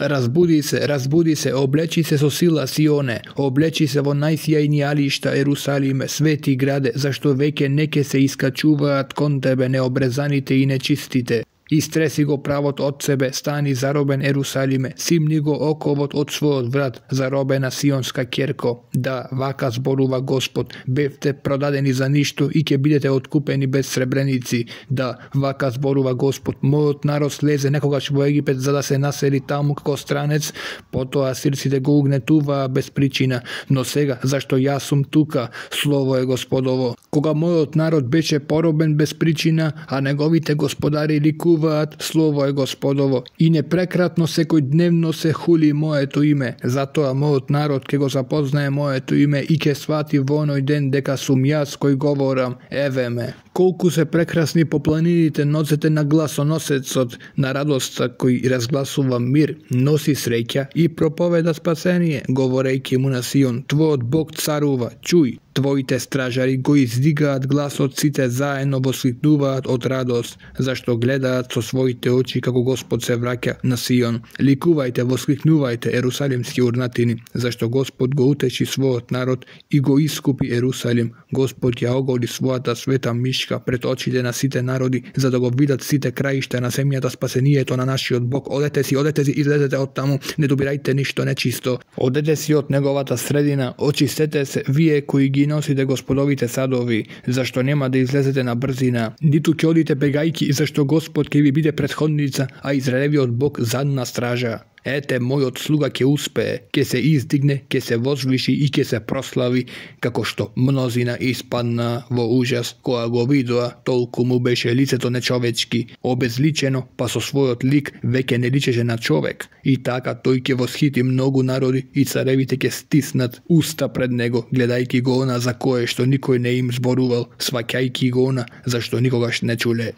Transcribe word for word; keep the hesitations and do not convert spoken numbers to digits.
Разбуди се, разбуди се, облечи се со сила Сионе, облечи се во најсјајни алишта Ерусалиме, свети граде, зашто веќе неќе се искачуваат кон тебе необрезаните и нечистите. Истреси го правот од себе, стани заробен Ерусалиме, симни го оковот од својот врат, заробена сионска ќерко. Да, вака зборува Господ, бевте продадени за ништо и ќе бидете откупени без сребреници. Да, вака зборува Господ, мојот народ слезе некогаш во Египет за да се насели таму како странец, потоа асирците го угнетуваа без причина, но сега, зашто јас сум тука, слово е Господово. Кога мојот народ беше поробен без причина, а неговите господари ликуваат, слово е Господово, и непрекратно секој дневно се хули моето име. Затоа мојот народ ќе го запознае моето име и ќе свати во оној ден дека сум јас кој говорам, еве ме. Колку се прекрасни по планините ноцете на гласоносецот, на радоста кој разгласува мир, носи среќа и проповеда спасение, говорејќи му на Сион, твојот Бог царува, чуј. Твоите стражари го издигаат гласот, сите заедно воскликнуваат од радост, зашто гледаат со своите очи како Господ се враќа на Сион. Ликувајте, воскликнувајте, ерусалимски урнатини, зашто Господ го утеши својот народ и го искупи Ерусалим. Господ ја оголи својата света мишка пред очите на сите народи, за да го видат сите краишта на земјата спасението на нашиот Бог. Одете си, одете си, излезете од таму, не добирајте ништо нечисто. Одете си од неговата средина, очистете се, вие кои ги носите Господовите садови, зашто нема да излезете на брзина, ниту ќе одите бегајки, зашто Господ ќе ви биде претходница, а Израелевиот Бог задна стража. Ете, мојот слуга ќе успее, ќе се издигне, ќе се возвиши и ќе се прослави, како што мнозина испадна во ужас, која го видоа, толку му беше лицето нечовечки, обезличено, па со својот лик веќе не личеше на човек. И така тој ќе восхити многу народи и царевите ќе стиснат уста пред него, гледајќи го она за кое што никој не им зборувал, сваќајќи го она за што никогаш не чуле.